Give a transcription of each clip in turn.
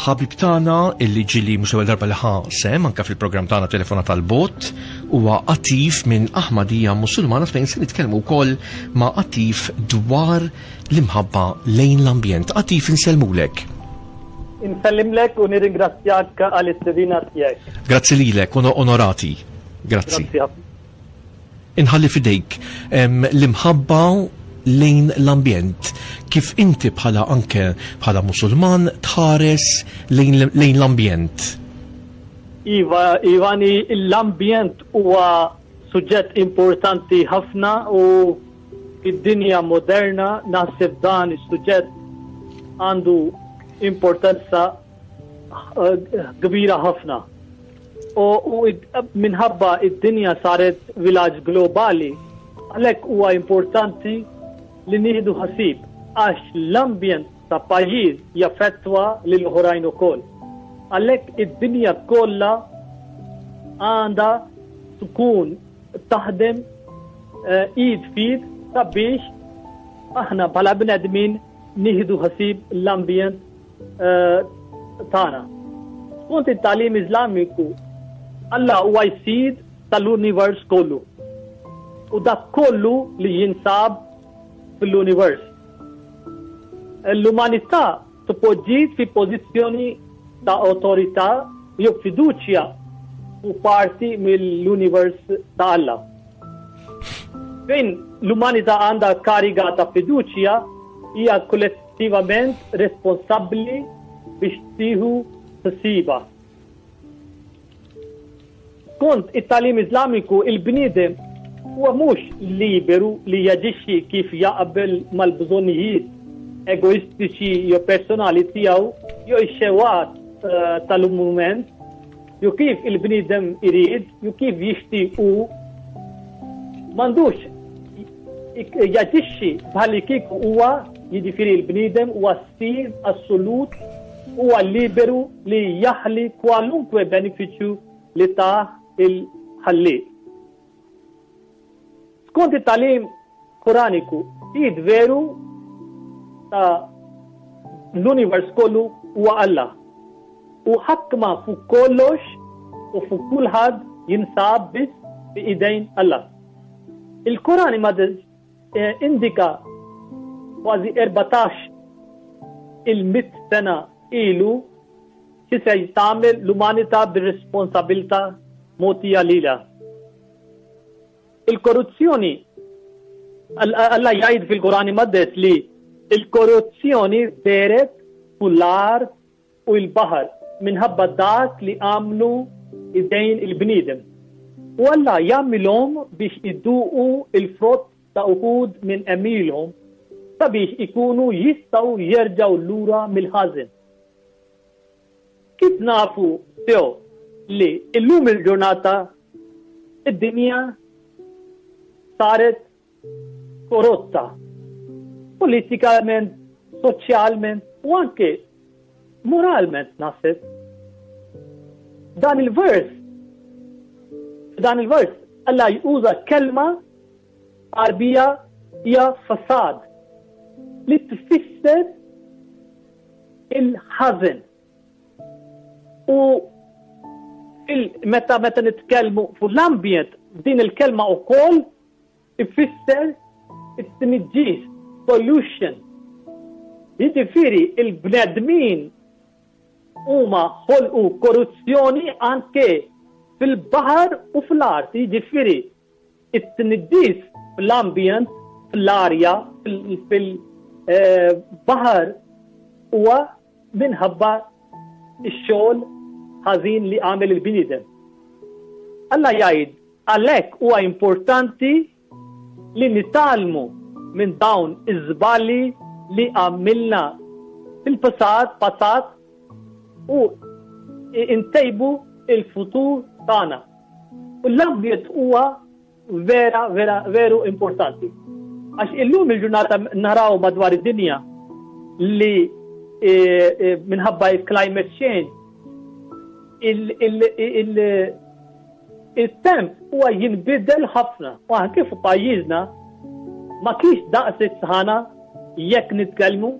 Ħabib tagħna illi ġili mhux l-ewwel darba li ħa sehem anke fil-programm tagħna Telefonata tal-Bot huwa Atif minn Ahmadija Musulmana fejn se nitkellmu wkoll ma' Atif dwar l-imħabba lejn l-ambjent. Atif insellmulek. Insellimlek u nirringrazzjak għall-istedina tiegħek. Grazzi lilek, onorati. Grazzi. Inħalli f'idejk l-imħabba lejn l-ambjent. Kif inti bħala anke bħala Musulman tħares lejn l-ambjent? Iva, Ivani, l-ambjent huwa suġġett importanti ħafna u fid-dinja moderna naħseb dan is-suġġett għandu importanza eh, kbira ħafna. U minħabba id-dinja saret vilaġġ globali, għalhekk huwa importanti li nieħdu ħasib għax l-ambjent ta' pajjiż jaffettwa lil oħrajn ukoll. Għalhekk id-dinja kollha għandha tkun taħdem eh, id fid sabiex aħna bħala bnedmin nieħdu ħasib l-ambjent eh, tagħna. Skont it-tagħlim Iżlamiku, Alla huwa jsid tal-univers kollu. U dak kollu li jinsab fil-univers. L-umanità tpoġġiet fi pożizzjoni ta' awtorità jew fiduċja u parti mill-univers ta' Alla. Fejn l-umanità għandha kariga ta' fiduċja hija kollettivament responsabbli biex tieħu ħsiebha. Skont it-tagħlim Iżlamiku, il-bniedem huwa mhux liberu li jaġixxi kif jaqbel mal-bżonnijiet egoistiċi jew personali tiegħu jew ix-xewqat eh, tal-mument jew kif il-bniedem irid, jew kif jixtieq hu, m'għandux jaġixxi bħalli kieku huwa jiġifieri l-bniedem huwa sid assolut huwa liberu li jaħli kwalunkwe benefiċċju li tah il-Ħallieq. Skont it-tagħlim Koraniku, sid veru ta' l-univers kollu huwa Alla. U ħakma fuq kollox u fuq kulħadd jinsab biss fi idejn Alla. Il-Koran imqaddes eh, indika kważi 14 il-mit sena ilu xi se tagħmel l-umanità bir-responsabilità mogħtija lilha. Il-korruzzjoni Alla jgħid fil-Koran imqaddes li il-korruzzjoni deret fuq l-art u l-baħar minħabba dak li għamlu idejn il-bniedem. U Alla jagħmilhom biex iduqu l-frott ta' uħud minn għemilhom sabiex ikunu jistgħu jerġgħu lura mill-ħażen. Kif nafu sew li illum il-ġurnata id-dinja saret korotta politikament, soċjalment u anke moralment naħseb. Dan il-vers, dan il-vers, Alla juża kelma Għarbija hija fasad li tfisser il-ħażen. U meta meta nitkellmu fuq l-ambjent, din il-kelma wkoll ifisser it-tniġġis, pollution. Jiġifieri il-bnedmin huma ħolqu korruzzjoni anke fil-baħar u fl-art, jiġifieri It-tniġġis fl-ambjent, fl-arja, fil-baħar huwa minħabba x-xogħol ħażin li għamel il-bniedem. Alla jgħid għalhekk huwa importanti li nitgħallmu minn dawn iż-żbalji li għamilna fil-passat passat u ntejbu il-futur tagħna. U l-ambjent huwa vera, vera, veru importanti. Għax illum il-ġurnata naraw madwar id-dinja li e, e, minħabba il-climate change il-temp huwa jinbidel ħafna. U anke fuq pajjiżna ma kienx daqs is-sħana jekk nitkellmu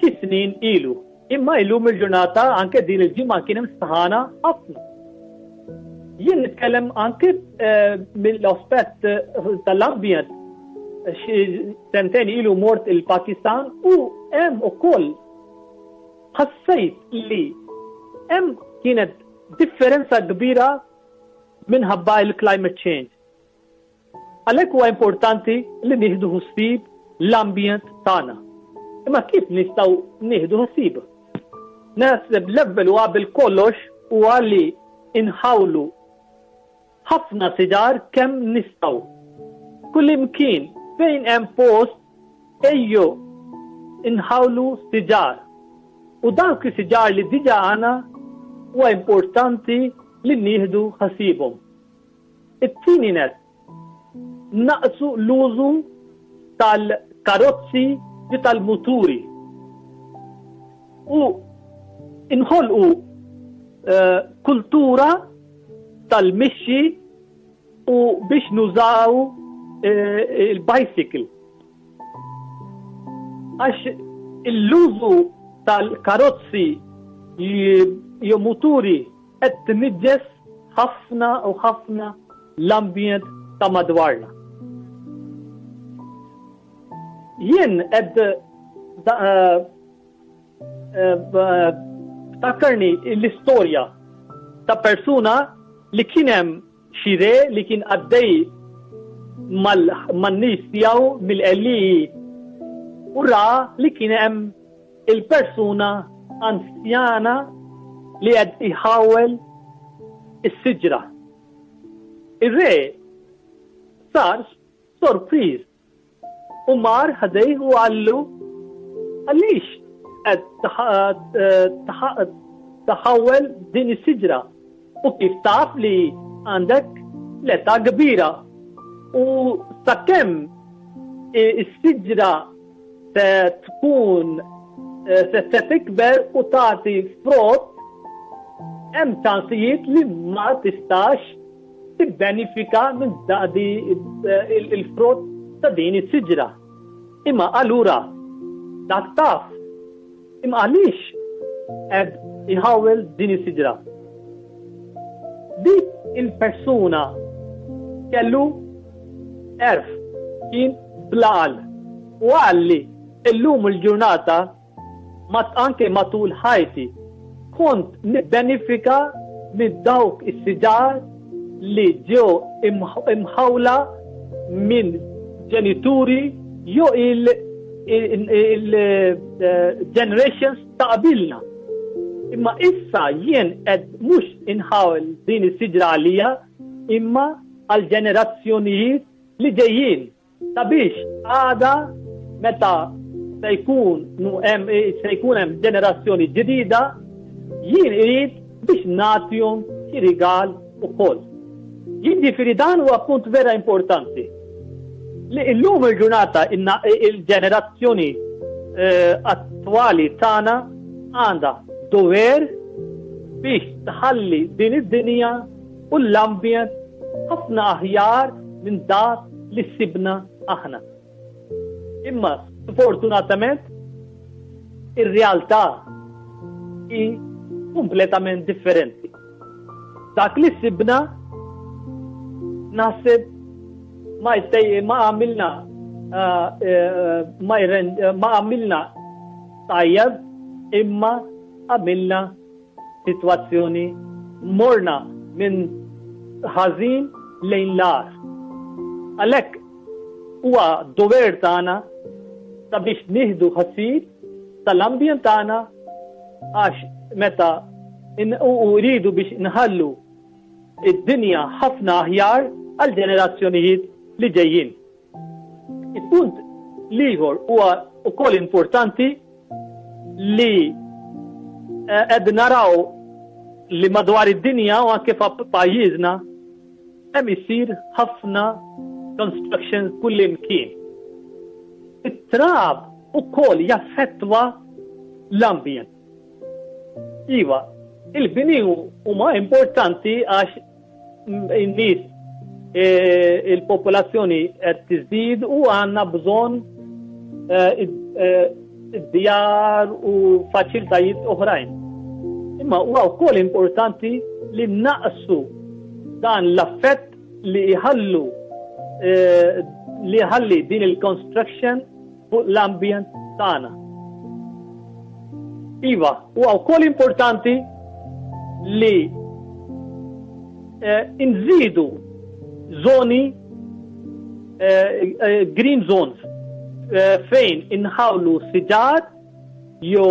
xi snin ilu. Imma illum il-ġurnata anke din il-ġimgħa kien hemm sħana ħafna. Jien nitkellem anke eh, mill-aspett eh, tal-ambjent xi sentejn ilu mort il-Pakistan u hemm ukoll ħassejt li hemm kienet differenza kbira minħabba il-climate change. Għalhekk huwa importanti li nieħdu ħsieb l-ambjent tagħna. Imma kif nistgħu nieħdu ħsieb? Naħseb l-ewwel u qabel kollox huwa li inħawlu ħafna siġar kemm nistgħu. Kullimkien fejn hemm post ejjew inħawlu siġar. U dawk is-siġar li diġà għandna huwa importanti li nieħdu ħsiebhom. It-tieni nett, naqsu l-użu tal-karozzi u tal-muturi u nħolqu eh, kultura tal-mixi u biex nużaw eh, il-bicycle. Għax l-użu tal-karozzi jew muturi qed tniġġes ħafna u ħafna l-ambjent ta' madwarna. Jien qed eh, eh, ftakkarni l-istorja ta' persuna li kien hemm xi re li kien għaddej man-nies tiegħu mill-għelieqi u ra li kien hemm il-persuna anzjana li qed iħawel is-siġra. Ir-re sar sorpriż U mar ħdejh u qallu, Għaliex qed tħawwel din is-siġra? U kif taf li għandek l-età kbira? U sakemm is-siġra se tkun se tikber u tagħti frott, hemm ċansijiet li ma tistax tibbenifika minn il-frott ta' din is-siġra. Imma allura dak taf. Imma għaliex qed iħawwel din is-siġra? Dik il-persuna kellu għerf kien bl-għaqal u qal li illum il-ġurnata Mat anke matul ħajti kont nibbenifika minn dawk is-siġar li ġew imħawla minn ġenituri jew il-generations ta' qabilna. Imma issa jien qed mhux inħawel din is-siġra għalija imma għall-ġenerazzjonijiet li ġejjin. Sabiex għada meta se jkun hemm se jkun hemm ġenerazzjoni ġdida, jien irid biex nagħtihom xi rigal ukoll. Jiġifieri dan huwa punt vera importanti. Li illum il-ġurnata il-ġenerazzjoni eh, attwali tagħna għandha dover biex tħalli din id-dinja u l-ambjent ħafna aħjar minn dak li sibna aħna. Imma sfortunatament ir-realtà hi kompletament differenti. Dak li sibna naħseb ma ma għamilna eh, eh, ma għamilna tajjeb imma għamilna sitwazzjoni morna minn ħażin lejn l-agħar. Għalhekk huwa dover tagħna sabiex nieħdu ħsieb tal-ambjent tagħna għax meta u rridu biex nħallu id-dinja ħafna aħjar għal ġenerazzjonijiet li ġejjin. Il-punt l-ieħor huwa wkoll importanti li eh, qed naraw li madwar id-dinja u anke f'pajjiżna hemm isir ħafna construction kullimkien. It-trab ukoll jaffettwa l-ambjent. Iva, il-bini huma importanti għax in-nies e, il-popolazzjoni qed tiżdied u għandna bżonn e, e, id-djar u faċilitajiet oħrajn. Imma huwa wkoll importanti li naqsu dan l-affett li jħallu eh, li jħalli din il-construction fuq l-ambjent tagħna. Iva, huwa wkoll importanti li eh, nżidu zoni eh, eh, green zones fejn inħawlu siġar jew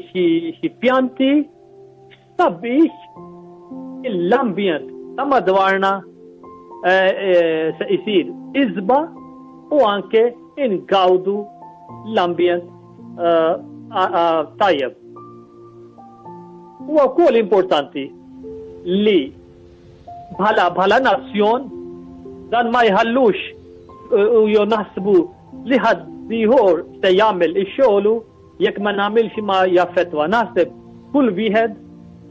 xi pjanti sabiex l-ambjent ta' madwarna se jsir isba u anke ingawdu l-ambjent tajjeb. Huwa wkoll importanti li bħala bħala nazzjon dan ma jħallux u jew naħsbu li ħadd ieħor se jagħmel ix-xogħlu jekk ma nagħmilx ma jaffettwa. Naħseb kull wieħed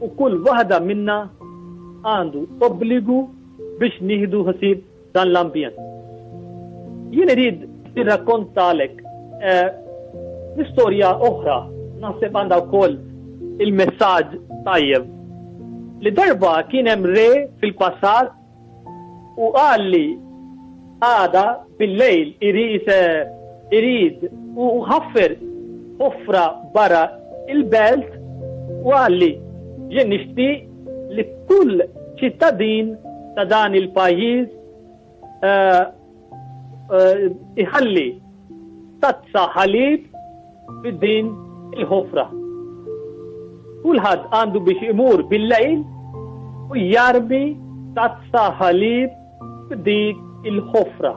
u kull waħda minna għandu obbligu biex nieħdu ħsieb dan l-ambjent. Jien irid nirrakkontalek eh, l-istorja oħra naħseb għandha wkoll il-messaġġ tajjeb. Li darba kien hemm re fil-passat u qal li għada bil-lejl irid irid u ħaffer ħofra barra il-belt u qal li jien nixtieq li kull ċittadin ta' dan il-pajjiż eh, eh, iħalli tazza ħalib fid-din il-ħofra. Kulħadd għandu biex imur bil-lejl u jarmi tazza ħalib f'dik il-ħofra.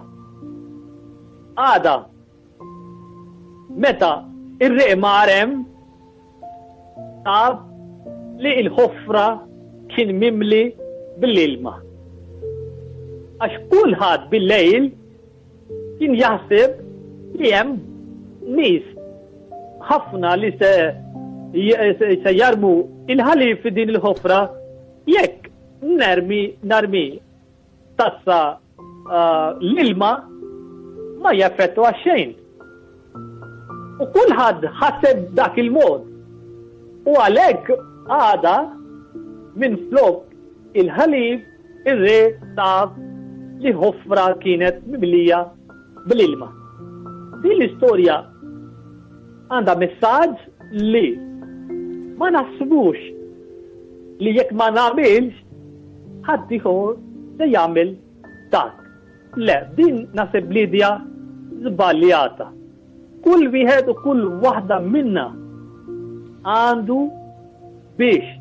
Għada, meta ir-re mar hemm, Sab li l-ħofra kien mimli bl-ilma. Għax kulħadd bil-lejl kien jaħseb li hemm nies ħafna li se se jarmu il-ħalib fi din il-ħofra jekk nermi narmi tazza l-ilma ma jaffettwa xejn. U kulħadd ħaseb dak il-mod. U għalhekk għada minn flok il-ħalib ir-re taf li ħofra kienet mimlija bl-ilma. Din l-istorja għandha messaġġ li ma naħsbux li jekk ma nagħmilx ħaddieħor se jagħmel dak. Le, din naħseb l-idea żbaljata. Kull wieħed u kull waħda minna għandu biex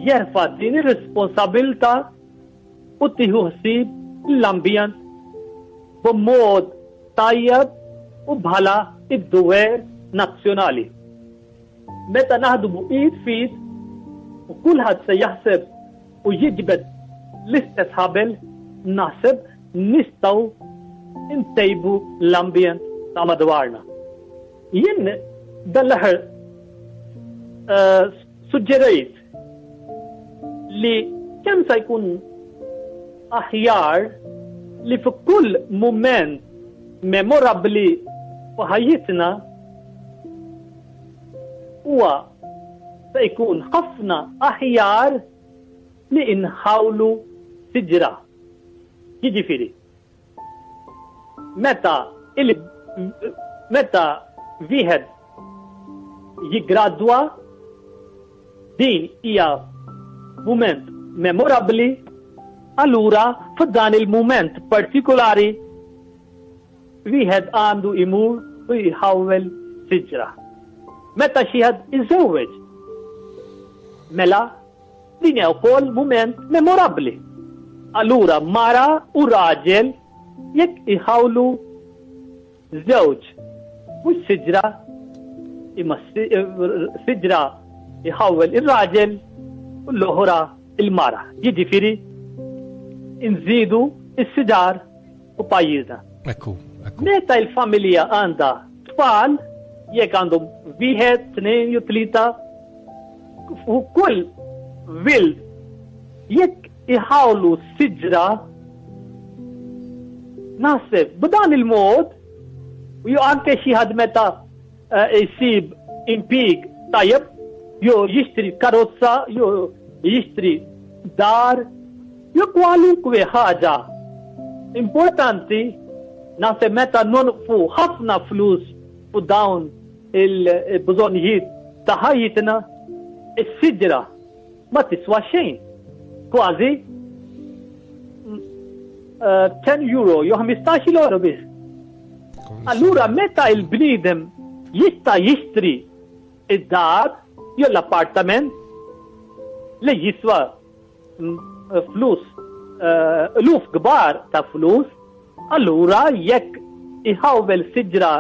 jerfa' din ir-responsabilità u tieħu ħsieb l-ambjent b'mod tajjeb u bħala id-dover nazzjonali. Meta naħdmu id f'id u kulħadd se jaħseb u jiġbed l-istess ħabel, naħseb nistgħu ntejbu l-ambjent ta' madwarna. Jien dan l-aħħar eh, suġġerejt li kemm se jkun aħjar li fi kull mument memorabbli f'ħajjitna huwa se jkun ħafna aħjar li inħawlu siġra. Jiġifieri, meta il meta wieħed jiggradwa din hija mument memorabbli, allura f'dan il-mument partikolari Wieħed għandu imur u jħawwel siġra. Meta xi ħadd iżewweġ, mela din hija wkoll mument memorabbli. Allura mara u raġel jekk iħawlu żewġ mhux siġra imma siġra jħawwel ir-raġel u l-oħra il-mara. Jiġifieri nżidu s-siġar u pajjiżna. Ekku, ekku. Meta il-familja għandha tfal, jekk għandhom wieħed, tnejn jew tlieta, u kull wild jekk iħawlu siġra naħseb b'dan il-mod U jew anke xi ħadd meta eh, jsib impjieg tajjeb, jew jixtri karozza, jew jixtri dar, jew kwalunkwe ħaġa importanti naħseb meta nonqfu ħafna flus fuq dawn il-bżonnijiet ta' ħajjitna, is-siġra ma tiswa xejn. Kważi 10 eh, euro jew 15 euro biss. Allura meta il-bniedem jista' jixtri id-dar jew l-appartament li jiswa flus, eluf kbar ta' flus, allura jekk iħawwel siġra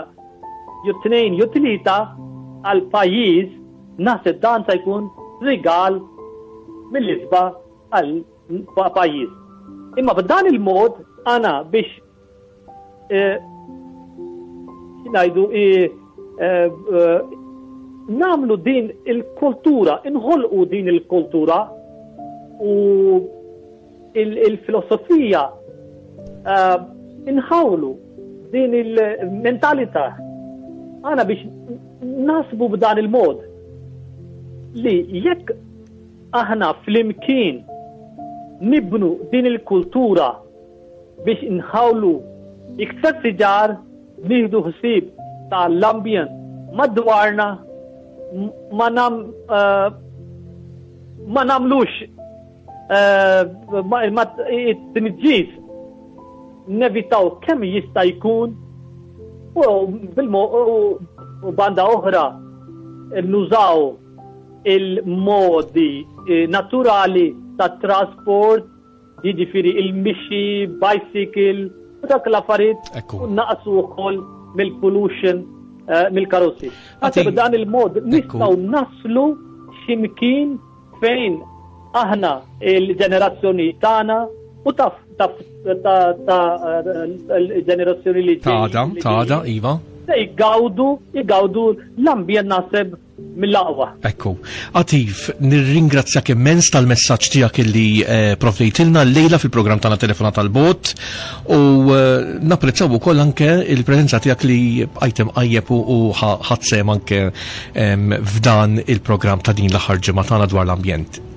jew tnejn jew tlieta għal pajjiż naħseb dan se jkun rigal mill-isbaħ għal pajjiż. Imma b'dan il-mod għana biex eh, ngħidu eh, eh, namlu din il-kultura, inħolqu din il-kultura u il-filosofija inħawlu din il-mentalità għana biex nasbu b'dan il-mod li jekk aħna flimkien nibnu din il-kultura biex inħawlu iktar siġar, nieħdu ħsieb ta' l-ambjent madwarna, ma nam eh, ma namlux eh, it-tniġġis nevitaw kemm jista' jkun u u banda oħra nużaw il-modi eh, naturali ta' trasport Jiġifieri il-mixi, bicycle, u dak l-affarijiet u naqsu wkoll mill-pollution eh, mill-karozzi. Għati b'dan il-mod nistgħu naslu x'imkien fejn aħna il-ġenerazzjoni tagħna u ta' ta' ta' l-ġenerazzjoni li ġejja. Ta' għada, iva. Se jgawdu, jgawdu l-ambjent naħseb mill-aqwa. Ekku. Atif, nirringrazzjak immens tal-messaġġ tiegħek illi eh, provdejtilna llejla fil-programm tagħna Telefonata tal-Bot u eh, napprezzaw ukoll anke il-preżenza tiegħek li bqajt imqajjeb u ħadd sehem anke f'dan il-programm ta' din l-aħħar ġimgħa tagħna dwar l-ambjent.